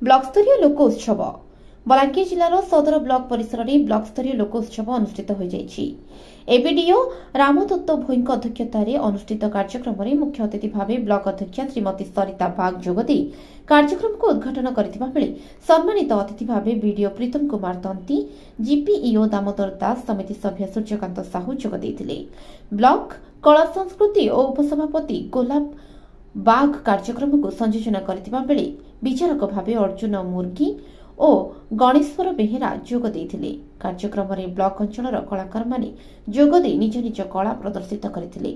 ବ୍ଲକସ୍ତରୀୟ ଲୋକ ଉତ୍ସବ। ବଲାଙ୍ଗୀର ଜିଲ୍ଲାର ସଦର ବ୍ଲକ ପରିସରରେ ବ୍ଲକସ୍ତରୀୟ ଲୋକ ଉତ୍ସବ ଅନୁଷ୍ଠିତ ହୋଇଯାଇଛି। ଏବିଡିଓ ରାମଦତ୍ତ ଭୋଇଙ୍କ ଅଧ୍ୟକ୍ଷତାରେ ଅନୁଷ୍ଠିତ କାର୍ଯ୍ୟକ୍ରମରେ ମୁଖ୍ୟ ଅତିଥି ଭାବେ ବ୍ଲକ ଅଧ୍ୟକ୍ଷା ଶ୍ରୀମତୀ ସରିତା ବାଗ ଯୋଗଦେଇ କାର୍ଯ୍ୟକ୍ରମକୁ ଉଦ୍ଘାଟନ କରିଥିବା ବେଳେ ସମ୍ମାନିତ ଅତିଥି ଭାବେ ବିଡିଓ ପ୍ରୀତମ କୁମାର ତନ୍ତି, ଜିପିଇଓ ଦାମୋଦର ଦାସ, ସମିତି ସଭ୍ୟ ସୂର୍ଯ୍ୟକାନ୍ତ ସାହୁ ଯୋଗ ଦେଇଥିଲେ। ବ୍ଲକ କଳା ସଂସ୍କୃତି ଓ ଉପସଭାପତି ଗୋଲାପ ବାଘ କାର୍ଯ୍ୟକ୍ରମକୁ ସଂଯୋଜନା କରିଥିବା ବେଳେ ବିଚାରକ ଭାବେ ଅର୍ଜୁନ ମୁର୍ଗୀ ଓ ଗଣେଶ୍ୱର ବେହେରା ଯୋଗ ଦେଇଥିଲେ। କାର୍ଯ୍ୟକ୍ରମରେ ବ୍ଲକ ଅଞ୍ଚଳର କଳାକାରମାନେ ଯୋଗଦେଇ ନିଜ ନିଜ କଳା ପ୍ରଦର୍ଶିତ କରିଥିଲେ।